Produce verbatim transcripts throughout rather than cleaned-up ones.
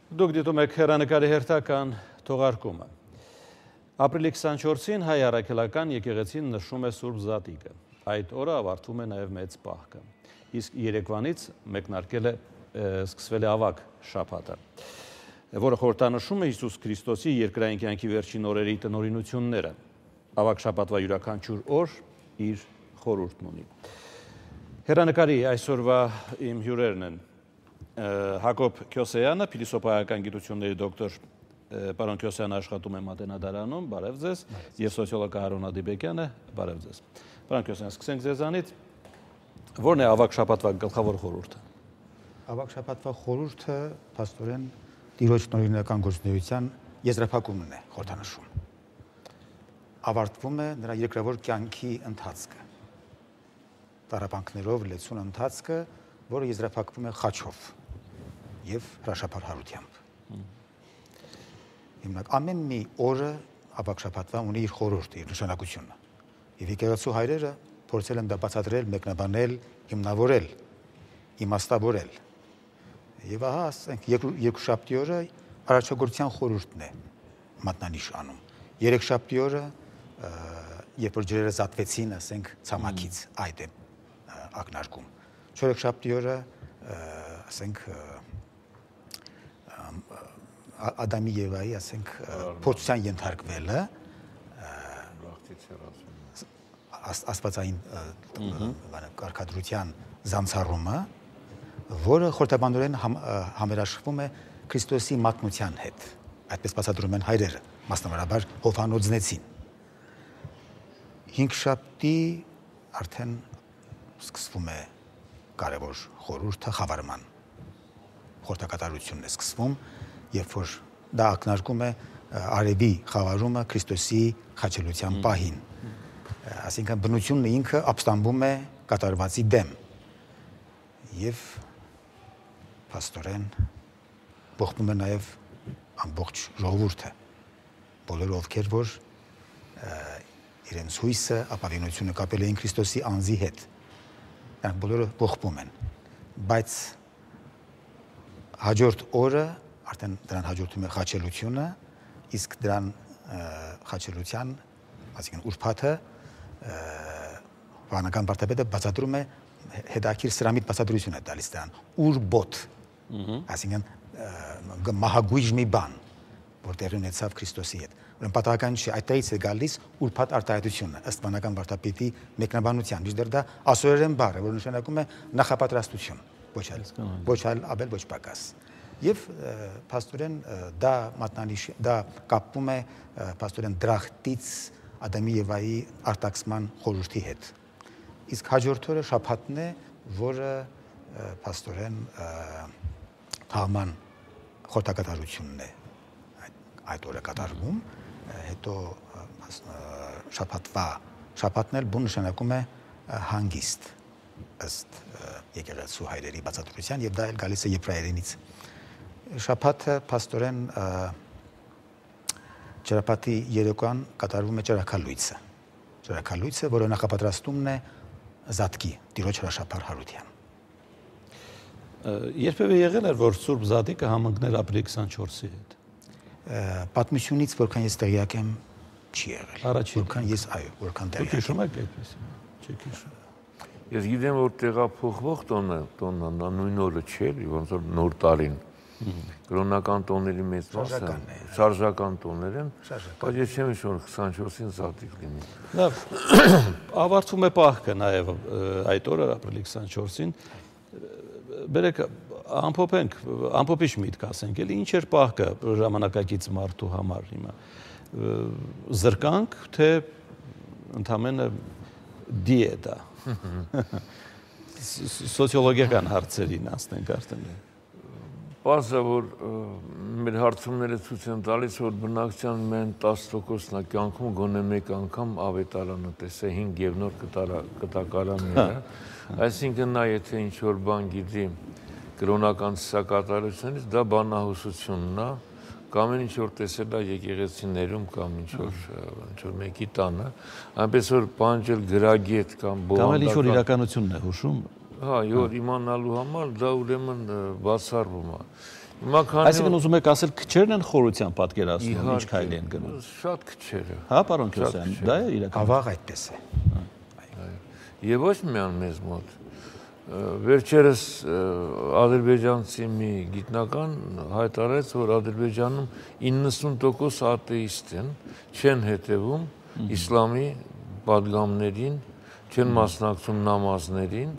Դուք դիտում եք հեռանկարի հերթական թողարկումը։ Ապրիլի քսանչորսին հայ առաքելական եկեղեցին նշում է Սուրբ Զատիկը։ Այդ օրը ավարտվում է նաև մեծ պահքը։ Իսկ երեկվանից մեկնարկել է սկսվել է ավագ շաբաթը, որը խորհրդանշում է Հիսուս Քրիստոսի երկրային կյանքի վերջին օրերի տնօրինությունները։ Ավագ շաբաթվա յուրաքանչյուր օր իր խորհուրդն ունի։ Հեռանկարի այսօրվա իմ հյուրերն են Հակոբ Քյոսեյանը, փիլիսոփայական գիտությունների դոկտոր, պարոն Քյոսեյանը աշխատում է Մատենադարանում, բարև ձեզ, եւ սոցիոլոգ Արոն Ադիբեկյանը, բարև ձեզ։ Պարոն Քյոսեյան, սկսենք ձեզանից։ Որն է ավագ շաբաթվա գլխավոր խորհուրդը։ Ավագ շաբաթվա խորհուրդը փաստորեն Տիրոջ տնօրինական գործունեության եզրափակումն է խորհրդանշում։ Ավարտվում է նրա երկրավոր կյանքի ընթացքը։ Տառապանքներով լեցուն ընթացքը, որը եզրափակվում է խաչով եւ հրաշափառությամբ։ Հիմնակ ամեն մի օրը ավագ շաբաթվա ունի իր խորհուրդը, իր նշանակությունը։ Եվ եկեղեցու հայրերը փորձել են դա բացատրել, մեկնաբանել, հիմնավորել, իմաստավորել։ Եվ ահա, ասենք, երկուշաբթի օրը արարչագործության խորհուրդն է մատնանիշ անում։ Երեքշաբթի օրը, երբ որ ջրերը զատվեցին, ասենք, ցամաքից, այդ է ակնարկում։ Չորեքշաբթի օրը, ասենք, Ադամի Եվայի, ասենք, փորձության ենթարկվելը, աստվածային կարգադրության զանցառումը, որը խորհրդաբանորեն համերաշխվում է Քրիստոսի մատնության հետ, այդպես բացատրում են հայրերը, մասնավորաբար Հովհաննոձնեցին։ Հինգշաբթի արդեն սկսվում է կարևոր խորհուրդը, խավարման խորհրդակատարությունն է սկսվում, երբ որ դա ակնարկում է արևի խավարումը Քրիստոսի խաչելության պահին։ Այսինքն բնությունն ինքը ապստամբում է կատարվածի դեմ եւ փաստորեն բողբում է նաեւ ամբողջ ժողովուրդը, բոլորը ովքեր որ իրենց հույսը, ապավինությունը կապել էին Քրիստոսի անձի հետ, նրանք բոլորը բողբում են, բայց հաջորդ օրը արդեն դրան հաջորդում է խաչելությունը, իսկ դրան խաչելության, այսինքն ուրբաթը վանական վարդապետը բացատրում է հետաքրքիր սրամիտ բացատրություն է տալիս դրան, ուրբոթ, այսինքն մահագույժ մի բան, որ տեղի ունեցավ Քրիստոսի հետ։ Ուրեմն պատահական չէ, այդտեղից է գալիս ուրբաթ արտահայտությունը, ըստ վանական վարդապետի մեկնաբանության, մինչդեռ դա ասորերեն բառ է, որ նշանակում է նախապատրաստություն, ոչ այլ, ոչ այլ ավել, ոչ պակաս։ Եվ փաստորեն դա մատնանիշ, դա կապվում է փաստորեն դրախտից Ադամի Եվայի արտաքսման խորհրդի հետ։ Իսկ հաջորդ օրը շաբաթն է, որը փաստորեն թաղման խորհրդակատարությունն է այդ օրը կատարվում, հետո շաբաթվա շաբաթն էլ բուն նշանակում է հանգիստ ըստ եկեղեցու հայրերի բացատրության, եւ դա էլ գալիս է եբրայերենից։ Շաբաթը փաստորեն ճրապատի երեկոյան կատարվում է ճրաքալույցը։ Ճրաքալույցը, որը նախապատրաստումն է Զատկի, Տիրոջ հրաշափառ Երբևէ եղել էր, որ Սուրբ Զատիկը համընկներ ապրիլի քսանչորսի հետ։ Պատմությունից, որքան ես տեղյակ եմ, չի եղել։ Առաջին, որքան ես, այո, որքան տեղյակ եմ։ Դուք հիշում եք այդպեսին։ Չեք հիշում։ Ես գիտեմ, որ տեղափոխվող տոնը, տոնը նույն օրը չէ, ոնց որ նոր տարին։ Կրոնական տոների մեծ մասը շարժական տոներ են, բայց ես չեմ հիշում, որ քսանչորսին Զատիկ լինի։ Լավ, ավարտվում է պահքը նաև այդ օրը ապրիլի քսանչորսին։ Բերեք ամփոփենք, ամփոփիչ միտք ասենք, էլի ինչ էր պահքը ժամանակակից մարդու համար հիմա։ Զրկանք, թե ընդամենը դիետա։ Սոցիոլոգիական հարցերին ասենք արդեն։ Պարզ է, որ մեր հարցումները ցույց են տալիս, որ բնակչության միայն տասը տոկոսն է կյանքում գոնե մեկ անգամ ավետարանը տեսել հինգ եւ նոր կտակարանները, այսինքն նա եթե ինչ-որ բան գիտի կրոնական ծիսակատարությունից, դա բանահյուսությունն է, կամ ինչ-որ տեսել է եկեղեցիներում, կամ ինչ-որ մեկի տանը, այնպես որ պանջել գրագետ կամ բովանդական… Կամ էլ ինչ-որ իրականությունն է հուշում։ Հա, որ իմանալու համար դա ուրեմն բացառվում է։ Այսինքն ուզում եք ասել քչերն են խորության պատկերացնում, ինչ քայլ են գնում։ Շատ քչերը։ Հա, պարոն Քյոսյան, դա է իրական։ Ավաղ այդպես է։ Եվ ոչ միայն մեզ մոտ։ Վերջերս ադրբեջանցի մի գիտնական հայտարարեց, որ Ադրբեջանում իննսուն տոկոս աթեիստ են, չեն հետևում իսլամի պատգամներին, չեն մասնակցում նամազներին,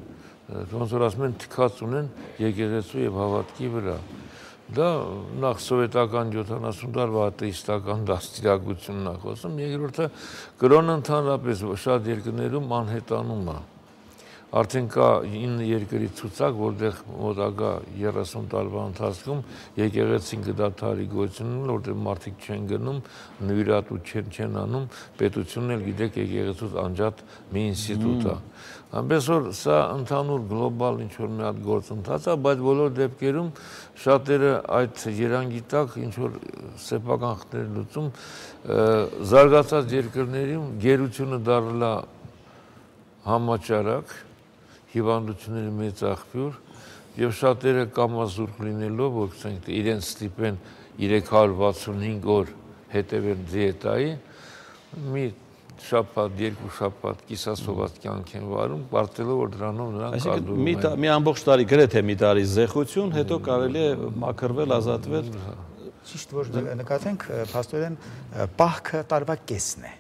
ոնց որ ասում են թքած ունեն եկեղեցու եւ հավատքի վրա։ Դա նախ սովետական յոթանասուն տարվա աթեիստական դաստիարակությունն է խոսում, երկրորդը կրոնը ընդհանրապես շատ երկրներում անհետանում է։ Արդեն կա ինը երկրի ցուցակ, որտեղ մոտակա երեսուն տարվա ընթացքում եկեղեցին կդադարի գոյությունն, որտեղ մարդիկ չեն գնում, նվիրատու չեն չեն անում, պետությունն էլ գիտեք եկեղեցուց անջատ մի ինստիտուտ է։ Այնպես որ սա ընդհանուր գլոբալ ինչ որ մի հատ գործընթաց է, բայց բոլոր դեպքերում շատերը այդ երանգի տակ ինչ որ սեփական խնդիրներ լուծում, զարգացած երկրներում գերությունը դառել է համաճարակ, հիվանդությունների մեծ աղբյուր եւ շատերը կամազուրկ լինելով, որ ասենք իրենց ստիպեն երեք հարյուր վաթսունհինգ օր հետևել դիետայի, մի շաբաթ, երկու շաբաթ կիսասոված կյանք են վարում, պարտելով որ դրանով նրանք կազմում են։ Մի ամբողջ տարի գրեթե մի տարի զեղություն, հետո կարելի է մաքրվել, ազատվել։ Ճիշտ որ նկատենք, փաստորեն պահքը տարվա կեսն է։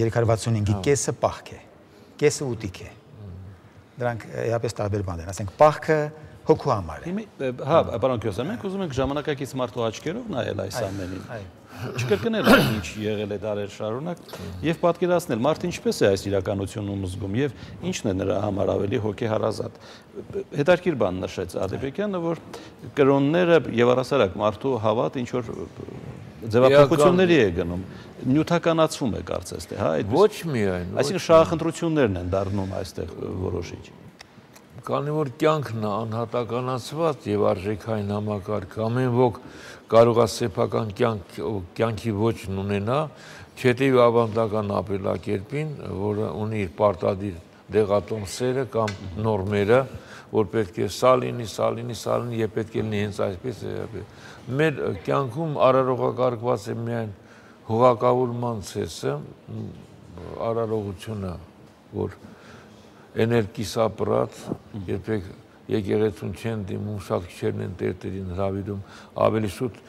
երեք հարյուր վաթսունհինգի կեսը պահք է, կեսը ուտիկ է։ Դրանք իհապես տարբեր բաներ են, ասենք պահքը հոգու համար է։ Հա, պարոն Քյոսյան, մենք ուզում ենք ժամանակակից մարդու աչքերով նայել այս ամենին։ Չկրկնել ինչ եղել է դարեր շարունակ եւ պատկերացնել մարդը ինչպես է այս իրականությունում զգում եւ ինչն է նրա համար ավելի հոգեհարազատ։ Հետաքրքիր բան նշեց Ադեբեկյանը, որ կրոնները եւ առասարակ մարդու հավատ ինչ որ ձևափոխությունների է գնում, նյութականացում է կարծես թե, հա, այդպես։ Ոչ միայն։ Այսինքն շահախնդրություններն են դառնում այստեղ որոշիչ։ Քանի որ կյանքն է անհատականացված եւ արժեքային համակարգ, ամեն ոք կարող է սեփական կյանք կյանքի ոչն ունենա, չհետեւի ավանդական ապրելակերպին, որը ունի իր պարտադիր դեղատոմսերը կամ նորմերը, որ պետք է սա լինի, սա լինի, սա լինի, եւ պետք է լինի հենց այսպես։ Մեր կյանքում արարողակարգված է միայն հողակավորման ցեսը, արարողությունը, որ էներգիսապրատ, երբեք եկեղեցուն չեն դիմում, շատ քչերն են տերտերին հրավիրում, ավելի շուտ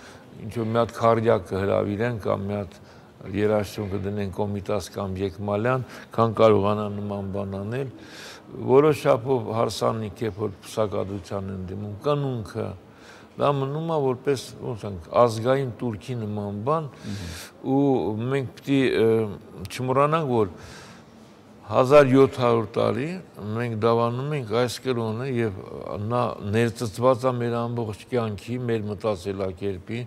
ինչ-որ մի հատ քարդիակ կհրավիրեն կամ մի հատ երաշտում կդնեն Կոմիտաս կամ Եկմալյան, քան կարողանան նման բան անել, որոշ չափով հարսանիք է, որ փսակադրության են դիմում, կանունքը, դա մնում է որպես ազգային турքի նման բան, ու մենք պիտի չմոռանանք, որ հազար յոթ հարյուր տարի մենք դավանում ենք այս կրոնը եւ նա ներծծված է մեր ամբողջ կյանքի, մեր մտածելակերպի,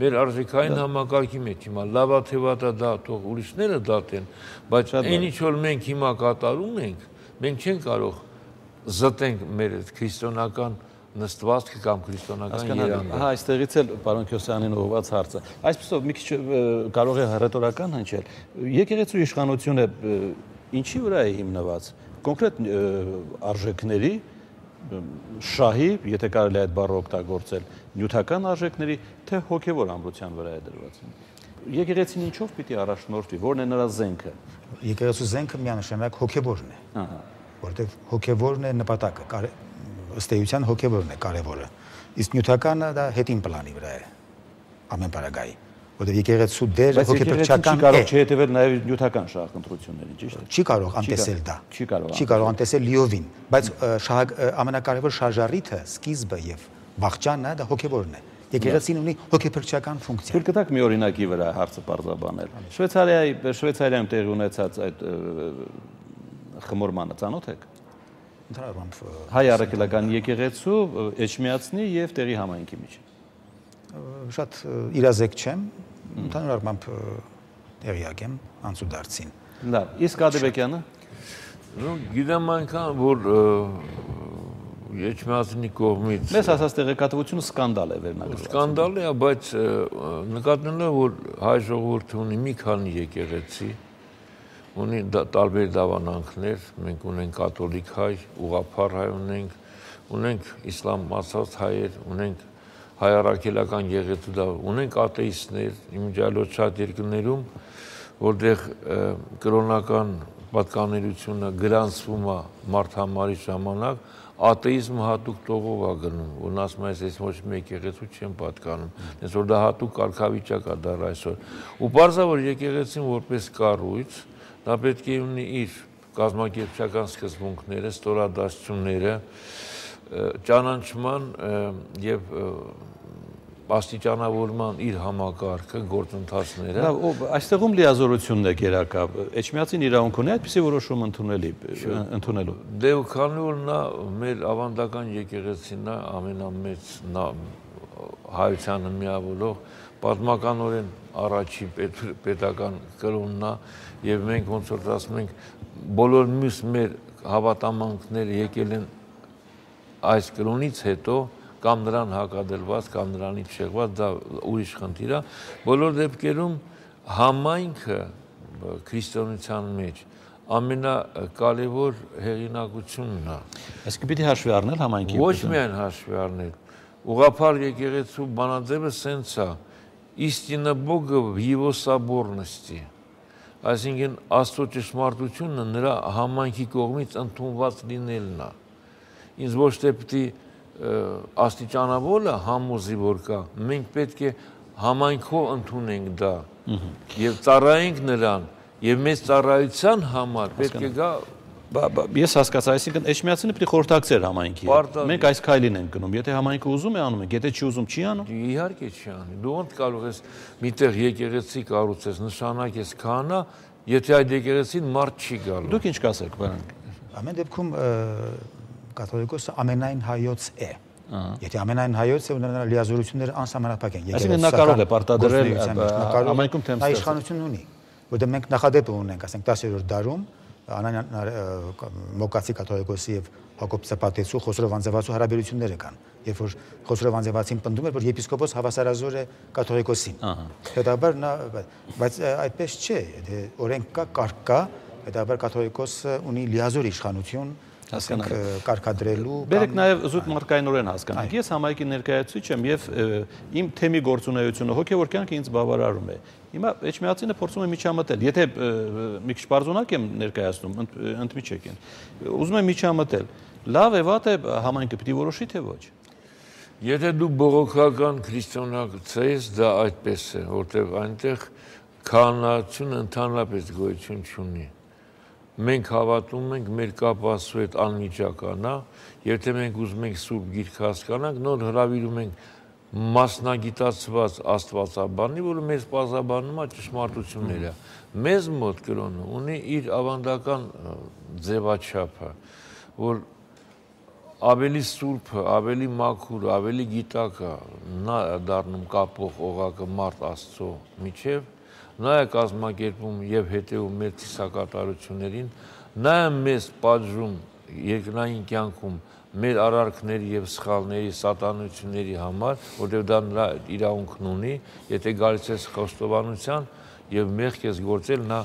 մեր արժեքային համակարգի մեջ։ Հիմա լավա թեվատա դա թող ուրիշները դատեն, բայց այն ինչ որ մենք հիմա կատարում ենք, մենք չենք կարող զտենք մեր քրիստոնական նստվածքը կամ քրիստոնական երանգը։ Հա, այստեղից էլ պարոն Քյոսյանին ուղղված հարցը։ Այսպեսով մի քիչ կարող է հռետորական հնչել։ Եկեղեցու իշխանությունը ինչի վրա է հիմնված։ Կոնկրետ արժեքների, շահի, եթե կարելի է այդ բառը օգտագործել, նյութական արժեքների, թե հոգևոր ամրության վրա է դրված։ Եկեղեցին ինչով պիտի առաջնորդվի, որն է նրա զենքը։ Եկեղեցու զենքը միանշանակ հոգևորն է։ Ահա։ Որտեղ հոգևորն է նպատակը, ըստ էության հոգևորն է կարևորը։ Իսկ նյութականը դա հետին պլանի վրա է ամեն պարագայի, որտեղ եկեղեցու դերը հոգեփրկչական է։ Բայց եկեղեցին չի կարող չհետևել նաև նյութական շահախնդրություններին, ճիշտ է։ Չի կարող անտեսել դա։ Չի կարող։ Չի կարող անտեսել լիովին, բայց ամենակարևոր շարժառիթը, սկիզբը եւ վաղճանը դա հոգևորն է։ Եկեղեցին ունի հոգեփրկչական ֆունկցիա։ Թույլ կտաք մի օրինակի վրա հարցը պարզաբանել։ Շվեյցարիայի Շվեյցարիայում տեղի ունեցած այդ խմորմանը ծանոթ եք։ Հայ առաքելական եկեղեցու, Էջմիածնի եւ տեղի համայնքի միջև։ Շատ իրազեկ չեմ, ընդհանուր առմամբ տեղյակ եմ անցուդարձին։ Լավ, իսկ Ադեբեկյանը։ Ну, գիտեմ այնքան, որ Էջմիածնի կողմից մեզ հասած տեղեկատվությունը սկանդալ է վերնագրված։ Սկանդալ է, բայց նկատելով, որ հայ ժողովուրդը ունի մի քանի եկեղեցի, ունի տարբեր դավանանքներ, մենք ունենք կաթոլիկ հայ, ուղղափառ հայ ունենք, ունենք իսլամ ասած հայեր, ունենք հայարակելական եկեղեցու դա ունենք աթեիստներ, իմիջիայլոց շատ երկրներում, որտեղ կրոնական պատկանելությունը գրանցվում է մարդամարի ժամանակ, աթեիզմը հատուկ տողով է գնում, որն ասում է, ես ոչ մի եկեղեցու չեմ պատկանում, հենց որ դա հատուկ կարգավիճակ է դառ այսօր։ Ու պարզ է, որ եկեղեցին որպես կառույց, դա պետք է ունի իր կազմակերպչական սկզբունքները, ստորադասությունները, ճանաչման եւ աստիճանավորման իր համակարգը, գործընթացները։ Լավ, այստեղում լիազորությունն է գերակա։ Էջմիածին իրավունք ունի այդպիսի որոշում ընդունելի, ընդունելու։ Դե ու քանի որ նա մեր ավանդական եկեղեցին է, ամենամեծ հայությանը միավորող, պատմականորեն առաջի պետական կրոնն է, եւ մենք ոնց որ ասում ենք, բոլոր մյուս մեր հավատամանքները եկել են այս կրոնից հետո, կամ նրան հակադրված, կամ նրանից շեղված, դա ուրիշ խնդիր է։ Բոլոր դեպքերում համայնքը քրիստոնեության մեջ ամենակարևոր հեղինակությունն է։ Այսինքն պիտի հաշվի առնել համայնքի։ Ոչ միայն հաշվի առնել։ Ուղղափառ եկեղեցու բանաձևը սենց է. «Истина Бога в его соборности». Այսինքն Աստծո ճշմարտությունը նրա համայնքի կողմից ընդունված լինելն է։ Ինձ ոչ թե պիտի աստիճանավորը համոզի որ կա, մենք պետք է համայնքով ընդունենք դա եւ ծառայենք նրան եւ մեծ ծառայության համար պետք է գա Ես հասկացա, այսինքն Էջմիածինը պիտի խորհրդակցեր համայնքի հետ։ Մենք այս քայլին ենք գնում, եթե համայնքը ուզում է անում ենք, եթե չի ուզում չի անում։ Իհարկե չի անի։ Դու ոնց կարող ես միտեղ եկեղեցի կառուցես, նշանակես քահանա, եթե այդ եկեղեցին մարդ չի գալու։ Դուք ինչ կասեք, բան։ Ամեն դեպքում կաթոլիկոսը ամենայն հայոց է։ Եթե ամենայն հայոց է, ունենա լիազորությունները անսահմանափակ են։ Այսինքն նա կարող է պարտադրել համայնքում թեմ նա իշխանություն ունի, որտեղ մենք նախադեպ ունենք, ասենք տասերորդ դարում Մոկացի կաթոլիկոսի եւ Հակոբ Սապատեցու Խոսրով Անձևացու հարաբերությունները կան, երբ որ Խոսրով Անձևացին պնդում էր, որ եպիսկոպոս հավասարազոր է կաթոլիկոսին։ Հետաբար նա, բայց այդպես չէ, օրենք կա, կարգ կա, հետաբար կաթոլիկոսը ունի լիազոր իշխանություն ասենք կարգադրելու Բերեք նաև զուտ մարդկայնորեն հասկանանք։ Ես համայնքի ներկայացուցիչ եմ եւ իմ թեմի գործունեությունը հոգեվոր կյանքը ինձ բավարարում է։ Հիմա Էջմիածինը փորձում է միջամտել։ Եթե մի քիչ բարձունակ եմ ներկայացնում, ընդմիջեք են։ Ուզում եմ միջամտել։ Լավ է, վատ է, համայնքը պիտի որոշի թե ոչ։ Եթե դու բողոքական քրիստոնյա ես, դա այդպես է, որտեղ այնտեղ քահանացությունը ընդհանրապես գոյություն չունի։ Մենք հավատում ենք, մեր կապը Աստծո հետ անմիջական է, եւ թե մենք ուզում ենք Սուրբ Գիրքը հասկանանք, նոր հրավիրում ենք մասնագիտացված աստվածաբանի, որը մեզ պարզաբանում է ճշմարտությունները։ Մեզ մոտ կրոնը ունի իր ավանդական ձևաչափը, որ ավելի սուրբը, ավելի մաքուրը, ավելի գիտակը նա դառնում կապող օղակը մարդ Աստծո միջև, նա է կազմակերպում եւ հետեւում մեր ծիսակատարություններին, նա է մեզ պատժում երկրային կյանքում մեր արարքների եւ սխալների, սատանությունների համար, որտեղ դա նրա իրավունքն ունի, եթե գալիս ես խոստովանության եւ մեղք ես գործել, նա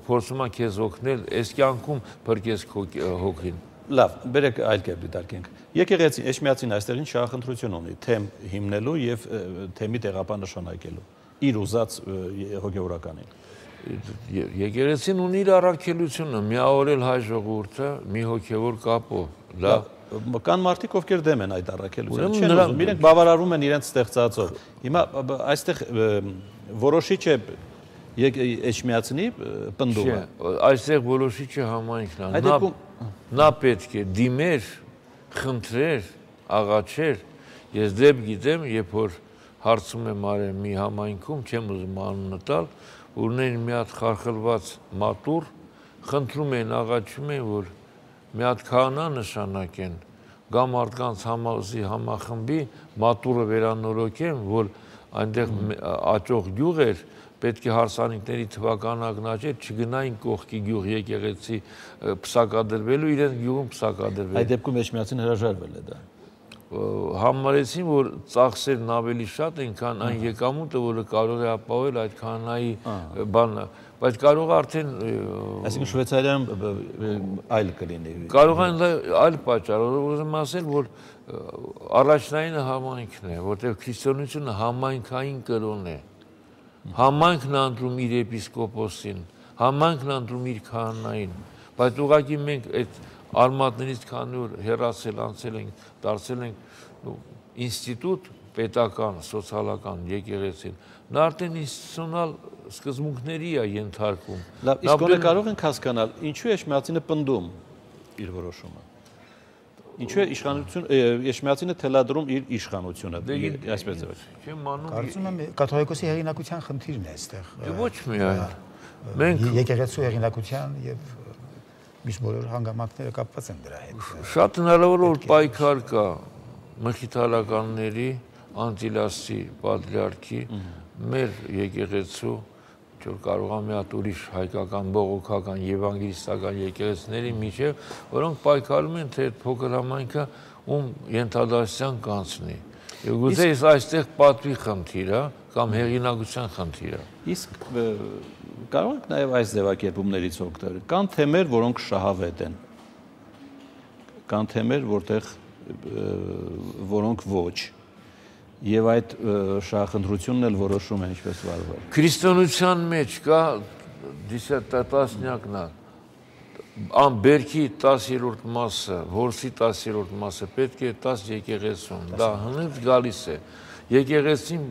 փորձում է քեզ օգնել, այս կյանքում փրկես քո հոգին։ Լավ, բերեք այլ կերպ դիտարկենք։ Եկեղեցին Էջմիածին այստեղ ինչ շահախնդրություն ունի, թեմ հիմնելու եւ թեմի տեղապանշանակելու իր ուզած հոգեվորականին։ Եկեղեցին ունի իր առաքելությունը, միավորել հայ ժողովուրդը մի հոգեվոր կապով։ Լավ, կան մարդիկ, ովքեր դեմ են այդ առաքելությանը, չեն ուզում, իրենք բավարարում են իրենց ստեղծածով։ Հիմա այստեղ որոշիչ է Էջմիածինի պնդումը։ Այստեղ որոշիչը համայնքն է։ Նա պետք է դիմեր, խնդրեր, աղաչեր։ Ես դեպ գիտեմ, երբ որ հարցում եմ արել մի համայնքում, չեմ ուզում անունը տալ, ունեն մի հատ խարխլված մատուռ, խնդրում են, աղաչում են, որ մի հատ քահանա նշանակեն, գա մարդկանց համազի համախմբի, մատուռը վերանորոգեն, որ այնտեղ աճող գյուղ էր, պետք է հարսանիքների թվականակն աճեր, չգնային կողքի գյուղ եկեղեցի փսակադրվելու, իրենց գյուղում փսակադրվել։ Այդ դեպքում Էջմիածին հրաժարվել է դա։ համարեցին, որ ծախսերն ավելի շատ են, քան այն եկամուտը, որը կարող է ապահովել այդ քահանայի բանը, բայց կարող է արդեն Այսինքն Շվեյցարիայում այլ կլինի։ Կարող է այլ պատճառ, ուզում ասել, որ առաջնայինը համայնքն է, որտեղ քրիստոնեությունը համայնքային կրոն է։ Համայնքն է ընտրում իր եպիսկոպոսին, համայնքն է ընտրում իր քահանային, բայց ուղղակի մենք այդ արմատներից քանի որ հեռացել անցել ենք, դարձել ենք ինստիտուտ պետական, սոցիալական եկեղեցին, նա արդեն ինստիտուցիոնալ սկզբունքների է ենթարկվում։ Լավ, իսկ գոնե կարող ենք հասկանալ, ինչու է Էշմիածինը պնդում իր որոշումը։ Ինչու է իշխանություն Էշմիածինը թելադրում իր իշխանությունը, այսպես ձևով։ Կարծում եմ կաթողիկոսի հեղինակության խնդիրն է այստեղ։ Ոչ միայն։ Մենք եկեղեցու հեղինակության եւ միշտ բոլոր հանգամանքները կապված են դրա հետ։ Շատ հնարավոր որ պայքար կա մխիթարականների, անտիլասի պատրիարքի, մեր եկեղեցու, որ կարող է մի հատ ուրիշ հայկական, բողոքական, եվանգելիստական եկեղեցիների միջև, որոնք պայքարում են, թե այդ փոքր համայնքը ում ենթադասության կանցնի։ Եվ գուցե այստեղ պատվի խնդիր է կամ հեղինակության խնդիր է։ Իսկ կարող ենք նաև այս ձևակերպումներից օգտվել։ Կան թեմեր, որոնք շահավետ են։ Կան թեմեր, որտեղ որոնք ոչ։ Եվ այդ շահախնդրությունն էլ որոշում է ինչպես վարվել։ Քրիստոնեության մեջ կա տասնյակն է, բերքի տասերորդ մասը, որսի տասերորդ մասը պետք է տաս եկեղեցուն, դա հնից գալիս է։ Եկեղեցին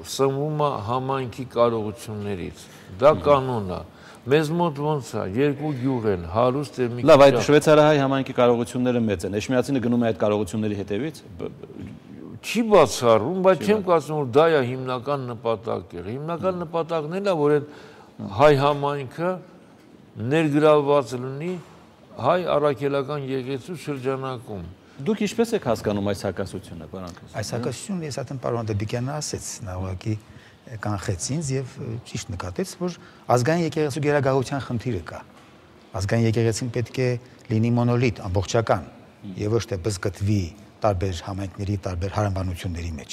սնվում է համայնքի կարողություններից, դա կանոն է։ Մեզ մոտ ոնց է, երկու գյուղ են, հարուստ է մի քիչ։ Լավ, այդ շվեյցարահայ համայնքի կարողությունները մեծ են։ Էշմիածինը գնում է այդ կարողությունների հետևից։ Չի բացառում, բայց չեմ կարծում, որ դա է հիմնական նպատակը։ Հիմնական նպատակն էլ է, որ այդ հայ համայնքը ներգրավված լինի հայ առաքելական եկեղեցու շրջանակում։ Դուք ինչպես եք հասկանում այս հակասությունը, պարոն Քրիստոսյան։ Այս հակասությունը ես արդեն պարոն Դեբիկյանը ասեց, նա ուղղակի կանխեց ինձ եւ ճիշտ նկատեց, որ ազգային եկեղեցու գերագաղության խնդիրը կա։ Ազգային եկեղեցին պետք է լինի մոնոլիտ, ամբողջական, եւ ոչ թե բզգտվի տարբեր համայնքների, տարբեր հարանվանությունների մեջ։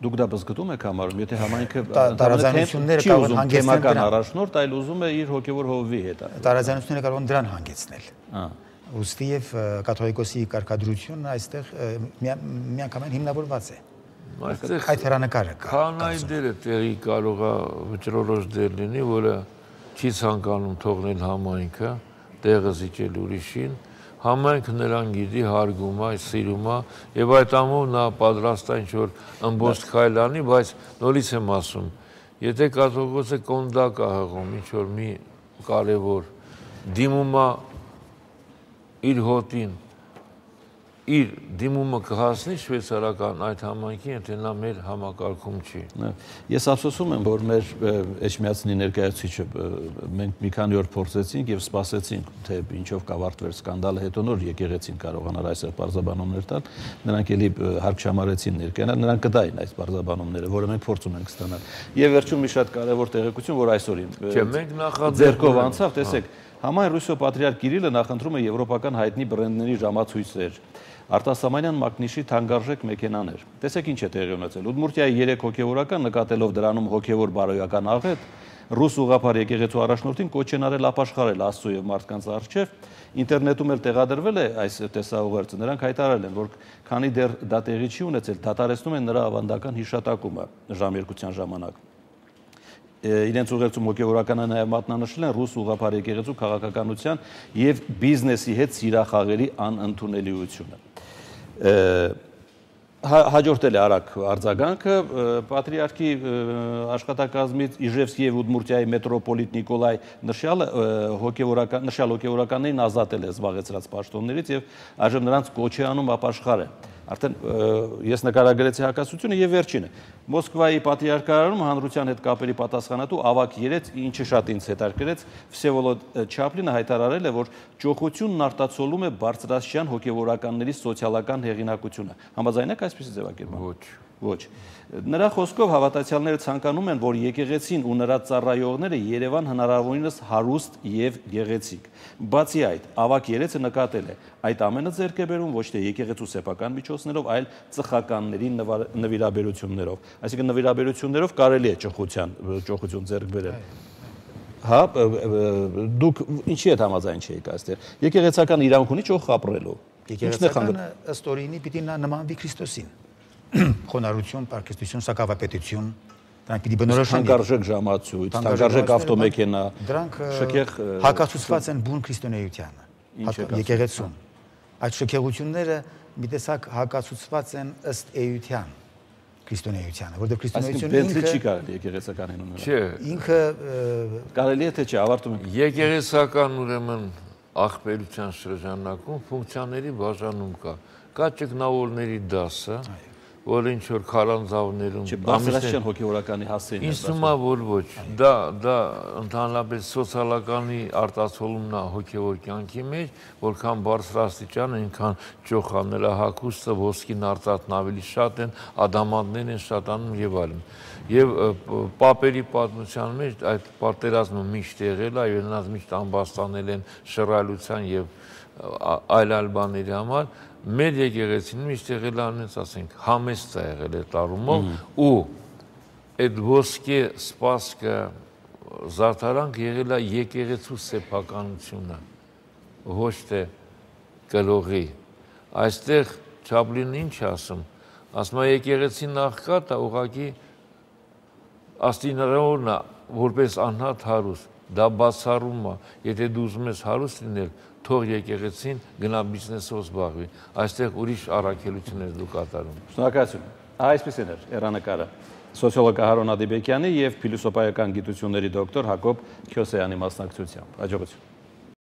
Դուք դա բզգտում եք համարում, եթե համայնքը տարաձայնությունները կարող են հանգեցնել դրան առաջնորդ, այլ ուզում է իր հոգևոր հովվի հետ։ Տարաձայնությունները կարող են դրան հանգեցնել։ Ուստի եւ կաթողիկոսի կարգադրությունն այստեղ միանգամայն հիմնավորված է։ Այստեղ այդ հերանեկարը կա։ Քահանայի դերը տեղի կարող է վճռորոշ դեր լինի, որը չի ցանկանում թողնել համայնքը, տեղը զիջել ուրիշին։ Համայնքը նրան գիտի, հարգում է, սիրում է եւ այդ ամով նա պատրաստ է ինչ-որ ըմբոստ քայլ անի, բայց նորից եմ ասում, եթե կաթողիկոսը կոնդակ է հղում, ինչ-որ մի կարևոր դիմում է իր հոտին, իր դիմումը կհասնի շվեյցարական այդ համայնքին, եթե նա մեր համակարգում չի։ Ես ափսոսում եմ, որ մեր Էշմիածինի ներկայացուցիչը մենք մի քանի օր փորձեցինք եւ սպասեցինք, թե ինչով կավարտվեր սկանդալը, հետո նոր եկեղեցին կարողանար այսօր բարձաբանումներ տալ, նրանք էլի հարկ չամարեցին ներկայանալ, նրանք կդային այս բարձաբանումները, որը մենք փորձում ենք ստանալ։ Եվ վերջում մի շատ կարևոր տեղեկություն, որ այսօրին ձեռքով անցավ, տեսեք, Համայն Ռուսիո պատրիարք Կիրիլը նախընտրում է եվրոպական հայտնի բրենդների ժամացույցեր, արտասահմանյան մակնիշի թանկարժեք մեքենաներ։ Տեսեք ինչ է տեղի ունեցել։ Ուդմուրտիայի երեք հոգևորական նկատելով դրանում հոգևոր բարոյական աղետ, ռուս ուղղափառ եկեղեցու առաջնորդին կոչ են արել ապաշխարել Աստծո եւ մարդկանց առջև, ինտերնետում էլ տեղադրվել է այս տեսաուղերձը, նրանք հայտարարել են, որ քանի դեռ դա տեղի չի ունեցել, դադարեցնում են նրա ավանդական հիշատակումը ժամերկության ժամանակ։ Իրենց ուղերձում հոգևորականը նաև մատնանշել են ռուս ուղղափառ եկեղեցու քաղաքականության եւ բիզնեսի հետ սիրախաղերի անընդունելիությունը։ Հաջորդել է արագ արձագանքը պատրիարքի աշխատակազմից Իժևսկի եւ Ուդմուրտիայի մետրոպոլիտ Նիկոլայ նշյալ հոգևորական նշյալ հոգևորականներին ազատել է զբաղեցրած պաշտոններից եւ այժմ նրանց կոչ է անում ապաշխարել։ Արդեն ես նկարագրեցի հակասությունը եւ վերջինը Մոսկվայի պատրիարքարանում հանրության հետ կապերի պատասխանատու ավագ երեց, ինչը շատ ինձ հետաքրքրեց, Վսևոլոդ Չապլինը հայտարարել է, որ ճոխությունն արտացոլում է բարձրաստիճան հոգևորականների սոցիալական հեղինակությունը։ Համաձայն եք այսպիսի ձևակերպման։ Ոչ։ Ոչ։ Նրա խոսքով հավատացյալները ցանկանում են, որ եկեղեցին ու նրա ծառայողները Երևան հնարավորինս հարուստ եւ գեղեցիկ։ Բացի այդ, ավագ երեցը նկատել է, այդ ամենը ձեռք է բերում ոչ թե եկեղեցու սեփական միջոցներով, այլ ծխականների նվիրաբերություններով։ Այսինքն նվիրաբերություններով կարելի է ճոխության, ճոխություն ձեռք բերել։ Հա, դուք ինչի հետ համաձայն չեք այստեղ։ Եկեղեցական իրավունք ունի ճոխ ապրելու։ Եկեղեցականը ըստ օրինի պիտի նմանվի Քրիստոսին։ Խոնարհություն, պարկեստություն, սակավապետություն, դրանք պիտի բնորոշեն թանկարժեք ժամացույց, թանկարժեք ավտոմեքենա, դրանք շքեղ հակացուցված են բուն քրիստոնեությանը, եկեղեցուն։ Այդ շքեղությունները մի տեսակ հակացուցված են ըստ էության քրիստոնեությանը, որտեղ քրիստոնեությունը ինքը չի կարելի եկեղեցականին ունենալ։ Չէ, ինքը կարելի է թե չէ, ավարտում ենք։ Եկեղեցական ուրեմն աղբերության շրջանակում ֆունկցիաների բաժանում կա։ Կա ճգնավորների դասը, որ ինչ որ քարանձավներում բարձրացիան հոգեորականի հասցեին ինձ թվում է որ ոչ դա դա ընդհանրապես սոցիալականի արտացոլումն է հոգեոր կյանքի մեջ, որքան բարձրաստիճան այնքան ճոխան նրա հագուստը ոսկին արծաթն ավելի շատ են, ադամանդներն են շատանում եւ այլն։ Եվ պապերի պատմության մեջ այդ պատերազմը միշտ եղել է, եւ նրանց միշտ ամբաստանել են շռայլության եւ այլ այլ բաների համար։ Մեր եկեղեցին միշտ եղել է անենց ասենք համեստ է եղել այդ առումով ու այդ ոսկե սպասքը զարդարանք եղել է եկեղեցու սեփականությունը ոչ թե կրողի այստեղ Չապլինն ինչ ասում ասում է եկեղեցին աղքատը ուղղակի աստինարորն է որպես անհատ հարուստ դա բացառում է եթե դու ուզում ես հարուստ լինել թող եկեղեցին գնա բիզնեսով զբաղվի, այստեղ ուրիշ առաքելություններ դու կատարում։ Շնորհակալություն։ Այսպեսին էր հեռանկարը սոցիոլոգ Հարոն Ադիբեկյանի եւ փիլիսոփայական գիտությունների դոկտոր Հակոբ Քյոսեյանի մասնակցությամբ։ Հաջողություն։